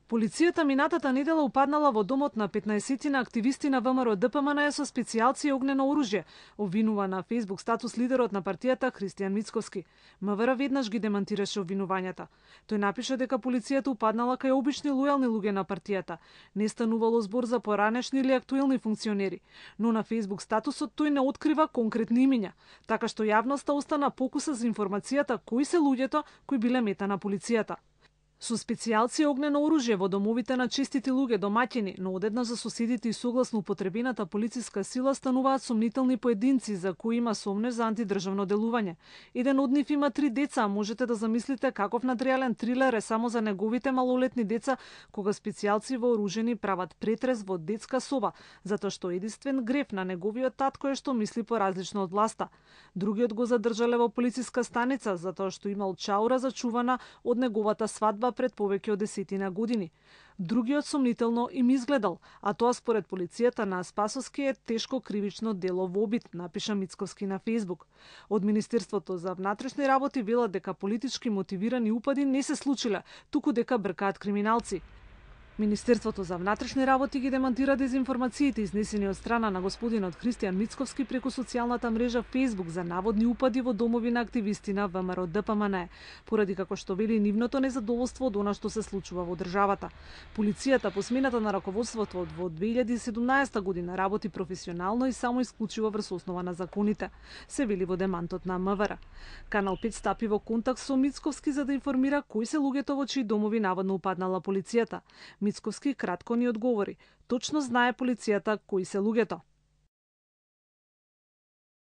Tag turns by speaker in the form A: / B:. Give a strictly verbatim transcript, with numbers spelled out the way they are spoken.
A: Полицијата минатата недела упаднала во домот на петнаесетина активисти на ВМРО Д П М Н со специјалци и огнено оружје, обвинува на Facebook статус лидерот на партијата Христијан Мицковски. МВР веднаш ги демантираше обвинувањата. Тој напиша дека полицијата упаднала кај обични лојални луѓе на партијата. Не станувало збор за поранешни или актуелни функционери, но на Facebook статусот тој не открива конкретни имиња, така што јавноста остана покуса за информацијата кои се луѓето кои биле мета на полицијата. Со специјалци и огнено оружје во домовите на честити луѓе домаќини, но одеднаш за соседите и согласно употребената полициска сила стануваат сомнителни поединци за кои има сомнеж за антидржавно делување. Еден од нив има три деца, можете да замислите каков надреален трилер е само за неговите малолетни деца кога специјалци вооружени прават претрес во детска соба, затоа што единствен греф на неговиот татко е што мисли поразлично од власта. Другиот го задржале во полициска станица затоа што имал чаура зачувана од неговата свадба пред повеќе од десетина години. Другиот сомнително им изгледал, а тоа според полицијата на Спасовски е тешко кривично дело во обид, напиша Мицковски на Facebook. Од Министерството за внатрешни работи велат дека политички мотивирани упади не се случиле, туку дека бркаат криминалци. Министерството за внатрешни работи ги демантира дезинформациите изнесени од страна на господинот Христијан Мицковски преку социјалната мрежа Facebook за наводни упади во домови на активисти на ВМРО Д П М Н, поради како што вели нивното незадоволство од она што се случува во државата. Полицијата по смената на раководството во две илјади и седумнаесета година работи професионално и само исклучиво врз основа на законите, се вели во демантот на М В Р. Канал пет стапи во контакт со Мицковски за да информира кои се луѓето во чии домови наводно упаднала полицијата. Мицковски кратко ни одговори. Точно знае полицијата кои се луѓето.